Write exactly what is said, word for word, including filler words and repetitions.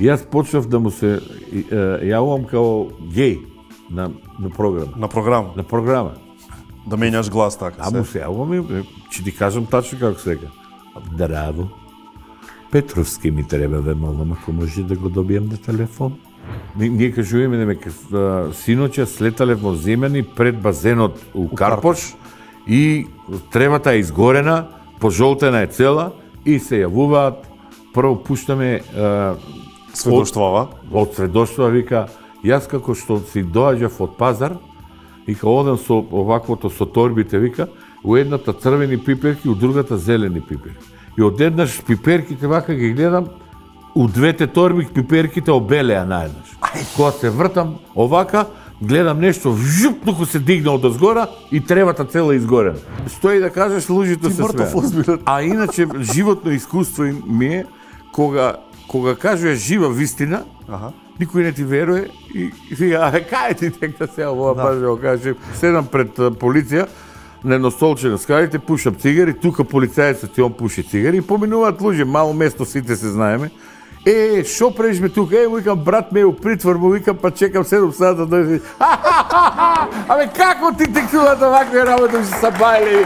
И јас почнав да му се јавувам као геј на на програма. На програма. На програма. Да менјаш глас така. А му се јавувам и ќе ти кажам тачно како се века. Драво. Петровски ми треба веднаш, ако може да го добием на телефон. Ние кажуваме дека синоќа слетале во Земјани пред базенот у Карпош и тревата е изгорена, пожолтена е цела и се јавуваат. Прво пуштаме сведоштвава. Од сведоштва вика, јас како што си доаѓав од пазар, вика одам со оваквото со торбите вика, у едната црвени пиперки, у другата зелени пиперки. И одеднаш пиперките вака ги гледам, у двете торби пиперките обелеа наеднаш. Кога се вртам овака, гледам нешто, жуп, туку се дигна од озгора и тревата цела изгорена. Стои да кажеш, луѓето се смеат. А иначе, животно искуство ми е, кога, кога кажеш жива вистина, Аха. никој не ти веруе и, и вика, а кај ти дека се ова да. Паже, каже, седам пред полиција, на едно столче на скалите, пушам цигари, тука полицајецот ти он пуши цигари и поминуваат луѓе, мало место сите се знаеме. Е, шо прежме тука? Е, му викам, брат ме е у притвор, му викам, па чекам седум сата да дојде. Абе, како ти текнуваат овакви работи, се сабајле?